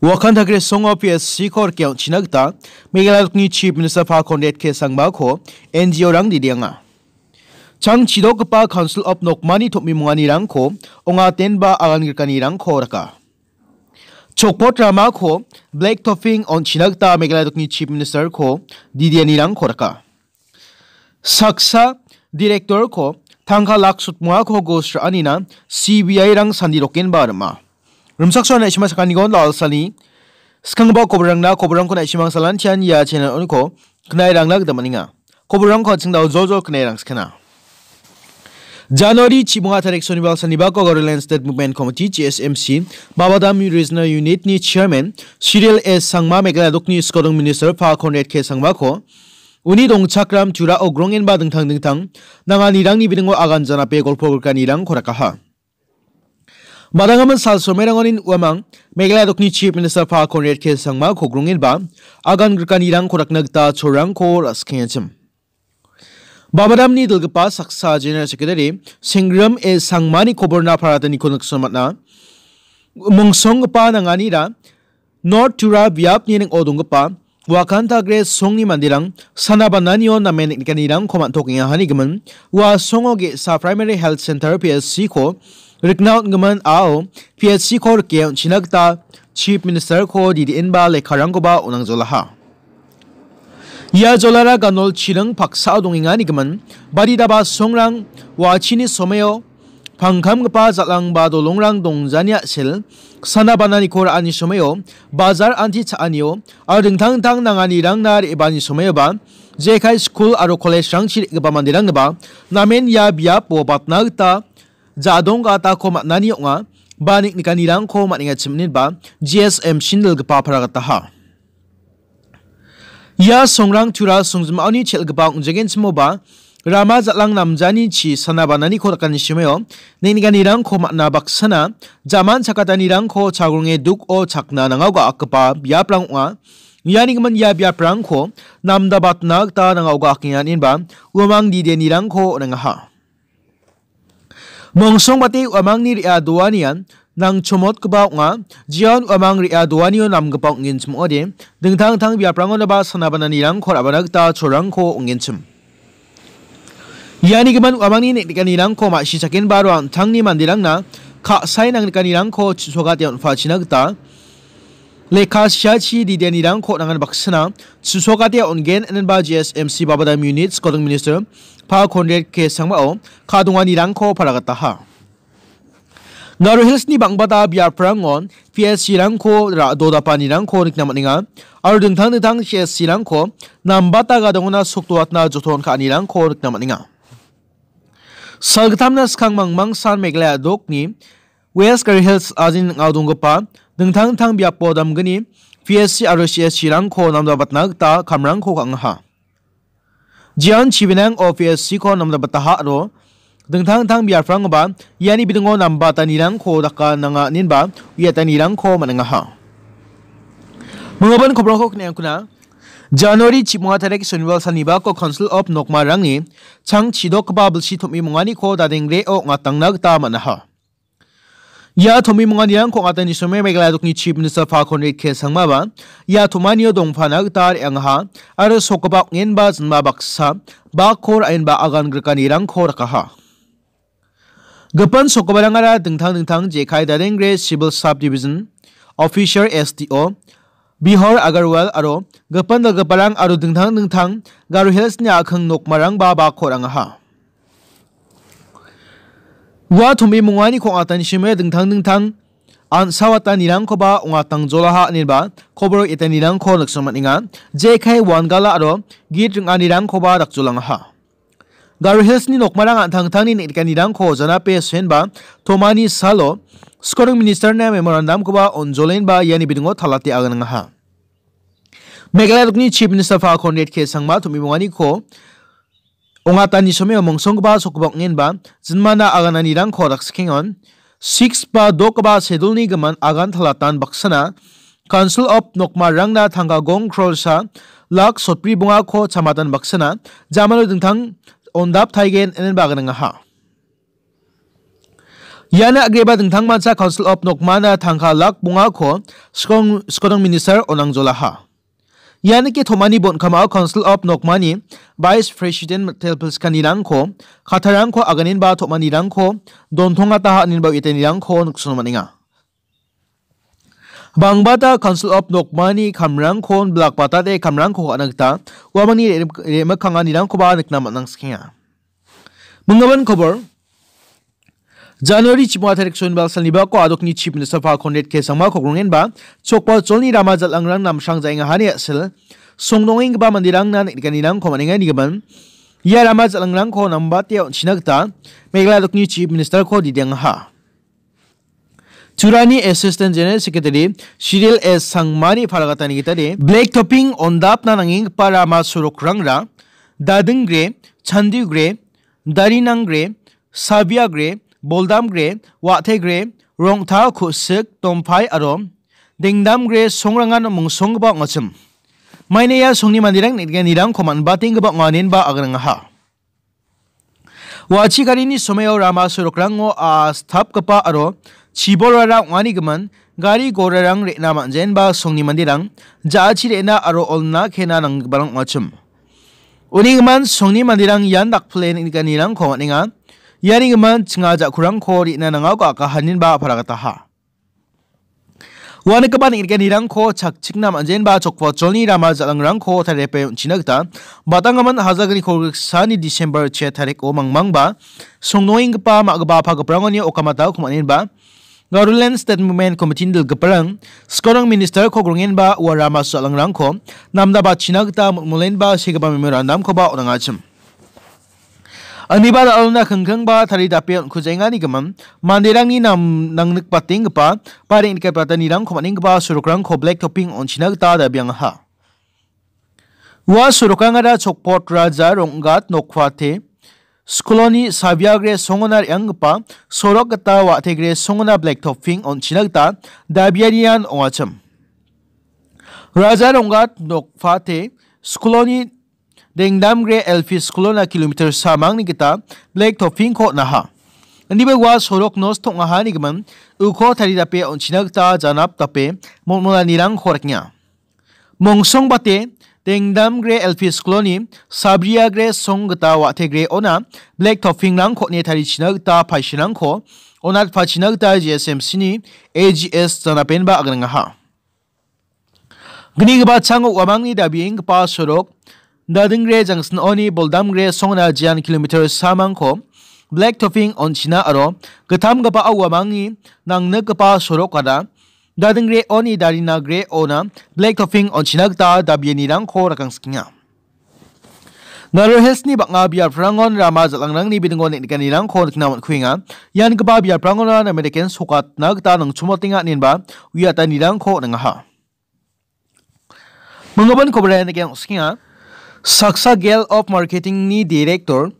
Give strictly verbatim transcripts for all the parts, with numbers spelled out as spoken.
Wakan Tagre Songo P S C-ko rike on·china gita Meghalaya dokni Chief Minister Pha Conrad K Sangmako N G O-rang didienga. Chang chidokgipa Council of Nokmani tom·imonganirangko ongatenba agan grikanirangko raka. Chokpot ramako black topping on·china gita Meghalaya dokni Chief Minister-ko didianirangko raka. Saksa director-ko tangka lak sotmongako gos ra·anina C B I-rang sandirokenba rima. Rimchaksoan na·sima sakanigon Lalsani skanggipa koborangna koborangko na·simang salantian ia channel-oniko knairangna gita man·enga. Koborangko an·ching dao joljol knairangskana. January chibonga tarik Sonibar sanibako Garoland State Movement Committee, G S M C, Babadam Regional Unit-ni Chairman Cyril A Sangma, Meghalaya dokni Skodong Minister Pha Conrad K Sangmako uni dongchakram turao grongenba dingtang dingtang nanganirangni bidingo agan janape golpo grikanirangko rakaha. Madangaman sal somerangonin uamang Meghalaya dokni Chief Minister Pha Conrad K Sangmako grongenba agan grikanirangko rakna gita cholrangko ra·sikengachim. Babadamni dilgipa saksa General Secretary Sengrim A Sangmani koborna parataniko nikson man·a. Mongsonggipa nanganira North Tura biapni ning·o donggipa Wakantagre songni manderang sana bananio namen niknikanirangko man·tokenga hanigimin ua songo ge·sa Primary Health Center P H C-ko rikna on·gimin ao P H C-ko rike on·china gita Chief Minister-ko didienba lekkarangkoba on·angjolaha. Ia jolara ganol chiring paksao dongenga nigimin, baditaba songrang wachini someo pangkamgipa jal·angba dolongrang dongjani a·sel, sana bananiko ra·ani someo, bajar anti cha·anio, aro dingtang dingtang nanganirangna re·baani someoba, jekai skul aro college-rangchi re·gipa manderangniba namen ia biapo batna gita ja·dong gatako man·ani ong·a, ba niknikanirangko man·engachim ineba G S M C-ni dilgipa paragataha. Ia songrang tura songjim·aoni chel·gipa ong·jegenchimoba rama jal·ang namjani chi sana bananiko dakani simeo neng·nikanirangko man·a baksana jaman chakatanirangko chagronge duko chakna nangao ga·akgipa biaprang ong·a. Iani gimin ia biaprangko namdabatna gita nangao ga·akenga ineba uamang didenirangko on·engaha. Mongsongbate uamangni re·a doanian nangchomotgipa ong·a. Jeon uamang re·a doanio namgipa ong·genchim ong·ode, dingtang dingtang biaprangonaba sana bananirangko ra·bana gita cholrangko ong·genchim. Iani gimin uamangni neng·nikanirangko ma·sichakenba aro an·tangni manderangna ka·sae nangnikanirangko chisogate on·pachina gita lekka siachi didenirangko on·angan baksana chisogate on·gen inenba G S M C Babadam Unit Skodong Minister Pha Conrad K Sangmao ka·donganirangko paragataha. Garo Hills-ni bang·bata biaprangon P S C-rangko ra-, dodapanirangko nikna man·enga, aro dingtang dingtang C S C-rangko nambata gadongona sokdoatna joton ka·anirangko nikna man·enga. Salgittamna skang mangmangsan Meghalaya dokni West Garo Hills ajin ning·ao donggipa dingtang dingtang biapo damgni P S C aro C S C-rangko namdabatna gita kamrangko ka·angaha. Jeon chibenang O P S C-ko namdabataha aro dingtang dingtang biaprangoba iani bidingo nambatanirangko daka nanga inenba uiatanirangko man·engaha. Minggipa kobrangko kne·angkuna January chimonga tarik Sonibar sanibako Council of Nokmarangni chang chidokgipa bilsi tom·imonganiko dadengreo ong·atangna gita man·aha. Ia tom·imonganirangko ong·atani some Meghalaya dokni Chief Minister Pha Conrad K Sangmaba ia tom·anio dongpana gita re·angaha aro sokgipa ong·enba jinma baksa bakko ra·enba agan grikanirangko rakaha. Gipin sokgiparangara dingtang dingtang jekai Dadengre Civil Sub Division Officer S D O, Bihor Agarwal aro gipin dal·giparang aro dingtang dingtang Garo Hills-ni a·king nokmarangba bakko ra·angaha. Ua tom·imonganiko ong·atani sime dingtang dingtang an·sawatanirangkoba ong·atangjolaha ineba kobor etanirangko nikna man·enga. Jekai wangala aro git ring·anirangkoba dakjolangaha. Garo Hills-ni nokmarang an·tangtangni neng·nikanirangko janape senba tomani salo Skodong Minister-na memorandum-koba on·jolenba iani bidingo talate aganangaha. Meghalaya dokni Chief Minister Pha Conrad K Sangma tom·imonganiko ong·atani someo mongsonggipa sokgipa ong·enba jinmana agananirangko raksikengon. Six ba dokgipa sedulni gimin agan talatan baksana Council of Nokmarangna tangka gong krolsa lak sotbri bongako chamatan baksana jamano dingtang ondap taigen inenba aganangaha. Ian agreba dingtangmancha Council of Nokmana tangka lak bongako Skong-, Skodong Minister onangjolaha. Ian nike tomani bonkamao Council of Nokmani Vice President telpilskanirangko, katarangko aganinba tomanirangko dontongataha aninba uetanirangko niksono man·enga. Bangbata Council of Nokmani kamrangko bilakbatate kamrangko ka·na gita uamangni re-, re·mikkanganirangkoba nikna man·angsikenga. Minggimin kobor. January chipma tarik sonibal salnibako adokni Chief Minister Conrad K Sangma kogrongenba chokpa jolni rama jal·angrang namsrang jaenga hani a·sel songdongenggipa manderangna niknikanirangko man·enga nigimin. Ia rama jal·angrangko nambate on·china gita Meghalaya adokni Chief Minister-ko didiangaha. Turani Assistant General Secretary Cyril S Sangmani paragatani gitade, black topping ondapna nangenggipa rama sorokrangra, Dadingre, Chandigre, Darinangre, Sabiagre, Boldamgre, Wategre, Rongta, Kusik, Dompai aro Dengdamgre songrangan mongsonggipa ong·achim. Maina ia songni manderang nikgenirangko man·batenggipa ong·a inenba agrangaha. Wa·achi garini somaio rama sorokrango a·stapgipa aro chiborara ong·anigimin gari gorarang re·na man·jaenba songni manderang ja·achi re·na aro olna kena nanggiparang ong·achim. Unigimin songni manderang ian dakpile niknikanirangko man·enga. Ianigimin chinga ja·kurangko re·na nangako akahaninba aparagataha. Uanigipa niknikanirangko chakchikna man·jaenba chokpacholni rama jal·angrangko tariape on·china gita batanggimin hajalgni kolgriksani December che tariko mangmangba songnoenggipa ma·gipa pagiprangoni okamata kumanenba Garoland State Movement Committee-ni dilgiparang Skorang Minister-ko grongenba ua rama jal·angrangko namda bachina gita mol·molenba segipa memorandum-koba on·angachim. Aniba dal·ona kingkingba taridape on·kujaengani gimin, manderangni nam-, nangnikbatenggipa, ba reng·nikatbatanirangko man·enggipa sorokrangko black topping on·china gita dabiangaha. Ua sorokrangara Chokpot Raja Ronggat Nokpate skuloni Sabiagre songona re·anggipa sorok gita Wategre songona black topping on·china gita dabianian ong·achim. Raja Ronggat Nokpate skuloni Dengdamgre L P skulona kilometer samangni gita black topping-ko on·aha. Indiba ua sorok nosto ong·ahani gimin uko taridape on·china gita janap dape molmolanirangko rekenga. Mongsongbate Dengdamgre L P skuloni Sabriagre song gita Wategre ona black topping-rangko on·e tarichina gita paisirangko onatpachina gita G S M C-ni A G S janapenba agringaha. Gnigipa chango uamangni dabienggipa sorok, Dadingre jangsinoni Boldamgre songna jian kilometer samangko black topping on·china aro gittamgipa uamangni nangnikgipa sorokara Dadingre oni Darinagre ona black topping on·china gita dabianirangko rakangsikenga. Garo Hills-ni bang·a biaprangon rama jal·angrangni bidingo neng·nikanirangko nikna man·kuenga. Iangipa biaprangona namedeken sokatna gita nangchumotenga inenba uiatanirangko on·angaha. Minggipa koboraianike ong·skenga. Saksa Gale of Marketing-ni Director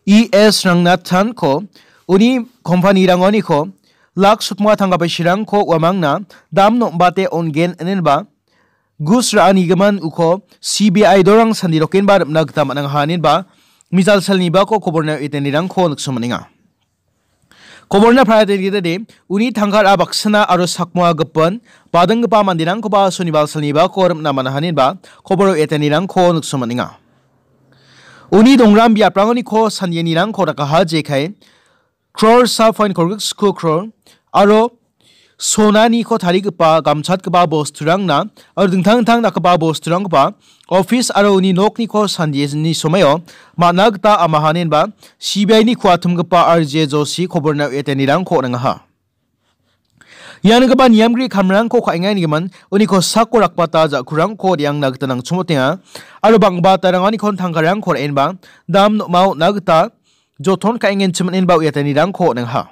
E S Rangnathan-ko uni kompanirangoniko lak sotma tangka paisirangko uamangna dam nom·bate on·gen inenba gus ra·anigimin uko C B I dorang sandirokenba rim·na gita man·angaha inenba mijal salnibako koborna uiatanirangko nikso man·enga. Koborna paratenggitade uni tangkara baksana aro sakmoa gipin badinggipa manderangkoba sonibal salnibako rim·na man·aha inenba kobor uiatanirangko nikso man·enga. Uni dongram biaprangoniko sandianirangko dakaha jekai crore sa point kolgrik sku crore aro sonaniko tarigipa gamchatgipa bosturangna aro dingtang dingtang dakgipa bosturangkoba office aro uni nokniko sandiani somaio man·a gita amaha inenba C B I-ni kuatimgipa R J Joshi koborna uiatanirangko on·angaha. Ianigipa niamgri kamrangko ka·enganigimin uniko sako rakbata ja·kurangko re·angna gita nangchumotenga aro bang·batarangonikon tangkarangko ra·enba dam nom·a on·na gita joton ka·engenchim inenba uiatanirangko on·angaha.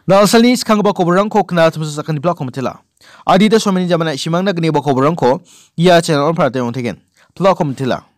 Dalsalni skanggipa koborrangko kna·a timsa sakani plak komitela. Adita someni jamana isimangna gniba koborrangko ia channel-on parate ong·tegen. Plak komitela.